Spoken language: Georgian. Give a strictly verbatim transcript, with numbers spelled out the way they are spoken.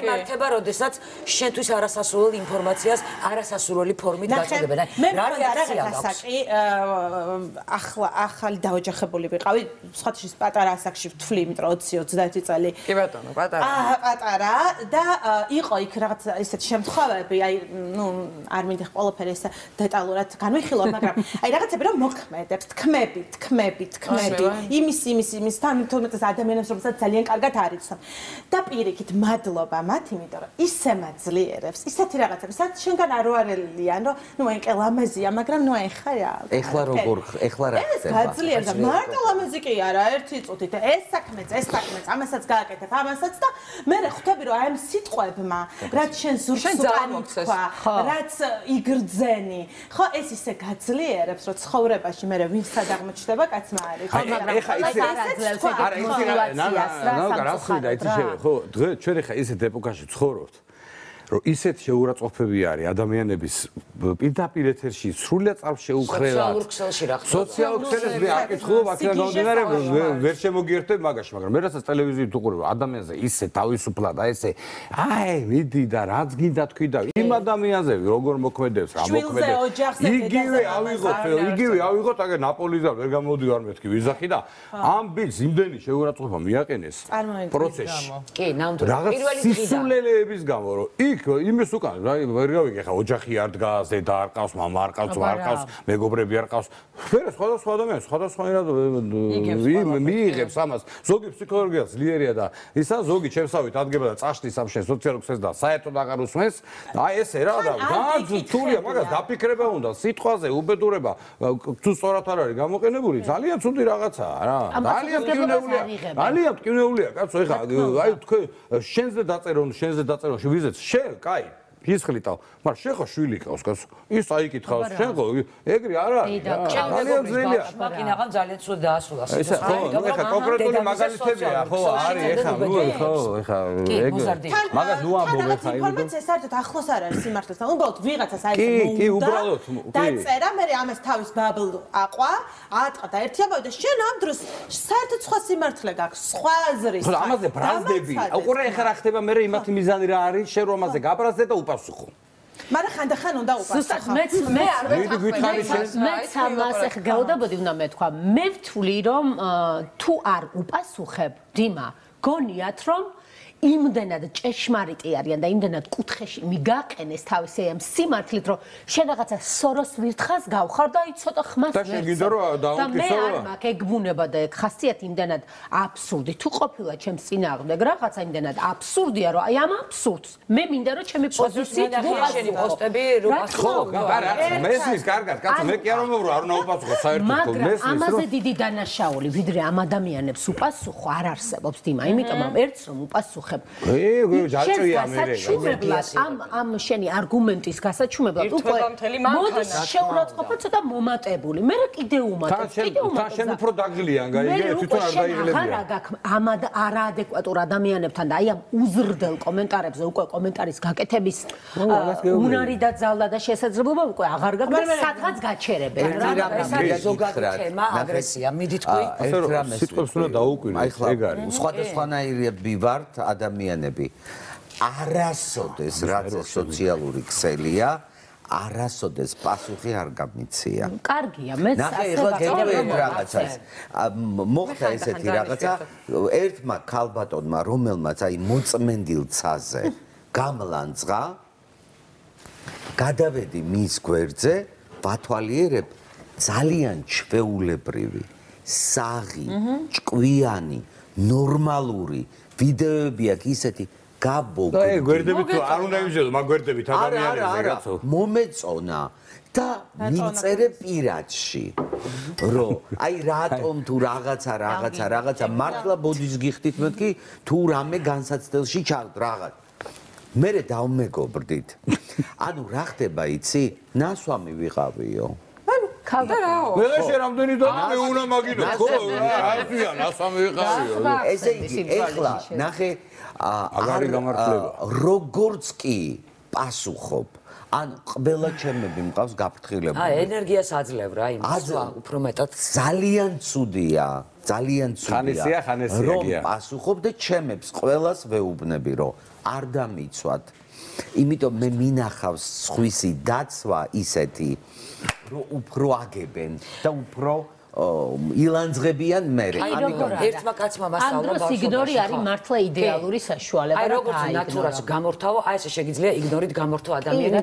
იმართება, როდესაც შენთვის არასასურველ ინფორმაციას არასასურველი ფორმით გაწოდებენ. რა რეაქცია გაქვს? ახლა ახალი დაოჯახებული ვიყავი, სხვათაშორის პატარა ასაკში ვთვლი, იმიტომ რომ ოცი ოცდაერთი წელი. კი ბატონო, პატარა. აა, პატარა და იყო იქ რაღაც ისეთი შემთხვევები, აი, ნუ არ მინდა ყველაფერი ესე დეტალურად განვიხილო, მაგრამ აი რაღაცები რომ მოქმედებს, თქმები, თქმები, თქმები, იმის იმის იმის თან თუმცა ადამიანებს რომელსაც ძალიან კარგად არიცნობ. და პირიქით მადლობა მათ, იმიტომ რომ ისე მაძლიერებს, ისეთი რაღაცები, სადაც შენგან არ ვარელიან, რომ ნუ აი კი ლამაზია, მაგრამ ნუ აი ხა რა. ეხლა როგორ ეხლა რა ხდება? ეს გაძლიერდა, მარტო ლამაზი კი არა, ერთი წუთით ეს საქმეც, ეს საქმეც, ამასაც გააკეთებ, ამასაც და მე ხვდები რომ აი ამ სიტყვებმა, რაც შენ ზურგს უკანიქვა, რაც იგრძენი, ხო ეს ისე გაძლიერებს, რომ ცხოვრებაში მე ვინ სად აღმოჩნდება კაცმა არის. ეხა ისე არა ისე რა რა რა იცი შევე ხო დღე ჩვენ ეხა ისეთ ეპოქაში ცხოვრობთ რომ ისეთ შეურაცხყოფები არის ადამიანების პირდაპირ ეთერში სრულიად წარშეუხრელად სოციალურ ქსელში რა ხდება სოციალურ ქსელს მე აკითხულობ აქედან გამომდინარე ვერ შემოგიერთებ მაგაში მაგრამ მე რასაც ტელევიზიით უყურებ ადამიანზე ისე თავისუფლად აი ესე აი მიდი და რაც გინდა თქვი და იმ ადამიანზე როგორ მოქმედებს რა მოქმედებს იგივე ავიღოთ იგივე ავიღოთ აგერ ნაპოლიდან ვერ გამოდივარ მეთქი ვიზახი და ამ ბილს იმდენი შეურაცხყოფა მიაყენეს პროცესში კი ნამდვილად პირველი დღიდან სისულელეების გამო რომ იქ იმის უკან რა ვერ გავიგე ხა ოჯახი არ დგას დედა არ ყავს მამა არ ყავს არ ყავს მეგობრები არ ყავს ვერა სხვადასხვა ადამიანი სხვადასხვანაირად მიიღებს ამას ზოგი ფსიქოლოგია ძლიერია და ისა ზოგი ჩემსავით ადგება და წაშლის ამ შენ სოციალურ ქსელს და საერთოდ აღარ usmens აი ესე რა და ძალიან თულია მაგას დაფიქრება უნდა სიტყვაზე უბედურება თუ სწორად არ არის გამოყენებული ძალიან ცუდი რაღაცაა რა ძალიან მტკივნეულია ძალიან მტკივნეულია კაცო ეხა აი თქვენ შენზე დაწერონ შენზე დაწერონ ვიზეთ შენ კაი ფისხლიტავ მაგრამ შენ ხო შვილი ყავს კაცო ის აიკითხავს შენ ხო ეგრე არ არის ძალიან ძნელია მაკინაღამ ძალიან ცუდ დაასრულა ეს ხო ეხა კონკრეტული მაგალითებია ხო არის ეხა ნუ ხო ეხა ეგრე მაგას ნუ ამბობ ეხა ინფორმაცია საერთოდ ახლოს არ არის სიმართლეს და უბრალოდ ვიღაცას აი კი კი უბრალოდ დაწერა მე ამას თავის ბაბლ აყვა აატყა და ერთი ამბავი და შენ ამ დროს საერთოდ სხვა სიმართლე გაქვს სხვა აზრი ხო ამაზე ბრაზდები უყურე ეხა რა ხდება მე იმათი მიზანი რა არის შენ რომ ამაზე გაბრაზდე და უპასუხო მაგრამ ხანდახან უნდა უპასუხო მე მე არ მეც ამას ახ გავდაბოდი უნდა მეთქვა მე ვთვლი რომ თუ არ უპასუხებ დიმა გონიათ რომ იმდენად ჭეშმარიტი არიან და იმდენად კუთხეში მიგაყენეს თავისი ამ სიმართლით რომ შენ რაღაცა სოროს ვირთხას გავხარ და აი ცოტა ხმას და შენ გინდა რომ დაუკისო რა და მე არ მაქვს ეგ ბუნება და ეგ ხასიათი იმდენად აბსურდი თუ ყოფილა ჩემს წინააღმდეგ რაღაცა იმდენად აბსურდია რომ აი ამ აბსურდს მე მინდა რომ ჩემი პოზიციით შენი პოსტები რომ ხო არა მესმის კარგად კაცო მე კი არ მომბრო არ უნდა უპასუხო საერთოდ მესმის რომ ამაზე დიდი დანაშაული ვიდრე ამ ადამიანებს უპასუხო არ არსებობს დიმა იმიტომ რომ ერთს რომ უპასუხე ე ჯაჭვია მე ამ ამ შენი არგუმენტის გასაჩუმებლად უკვე მოდის შეურაცხყოფა ცოტა მომატებული მე რა კიდე უმატებ კიდე უმატებ თან შენ უფრო დაგლიან გაიგე თვითონ არ დაიღლებია ამ არაადეკვატურ ადამიანებთან და აი ამ უზრდელ კომენტარებზე უკვე კომენტარის გაკეთების უნარი და ძალა და შესაძლებლობა უკვე აღარ გაქვს სადღაც გაჩერებენ რა ეს ზოგადი თემა აგრესია მიდი თქვი ერთ რამეს სიტყვებს უნდა დაუკვირდეთ ეგ არის სხვადასხვანაირები ვართ ადამიანები არასოდეს რაც სოციალური ქსელია არასოდეს პასუხი არ გამიცია. კარგია, მეც ასე რაღაცას. მოხდა ესეთი რაღაცა ერთმა ქალბატონმა რომელმაც აი მოწმენდილ ცაზე გამლანძღა გადავედი მის გვერდზე ვათვალიერებ ძალიან ჩვეულებრივი საღი ჭკვიანი ნორმალური ვიდეოები აქვს ისეთი გაბოგდი. და გვერდებით არ უნდა იმჟელო, მაგ გვერდებით ადამიანებზე კაცო. მომეწონა და მიწერე პირადში. რომ აი რატომ თუ რაღაცა რაღაცა რაღაცა მართლა ბოდის გიხდით მეთქი თუ რამე განსაცდელში ჩავთ რაღაც. მერე დავმეგობრდით. ანუ რა ხდება იცი? ნასვამი ვიყავიო. ხალხა მე შე რამდენი და მე უნდა მაგინო ხო არაფია ნასვამი ვიყავიო. ესე იგი ეხლა ნახე აგარი გამართლება როგორც კი პასუხობ ან ყველა ჩემები მყავს გაფრთხილებული აა ენერგიას აძლევ რა იმას უფრო მეტად ძალიან ცუდია ძალიან ცუდია ხანესია ხანესია რომ პასუხობ და ჩემებს ყველას ვეუბნები რომ არ დამიცვათ. იმიტომ მე მინახავს სხვისი დაცვა ისეთი, რომ უფრო აგებენ და უფრო ილანძღებიან მე. ერთმა კაცმა მასწავლა ბავშვობაში. ამ დროს იგნორი არის მართლა იდეალური საშუალება. აი როგორც ნატურას გამორთავო, აი ესე შეგიძლია იგნორით გამორთო ადამიანი.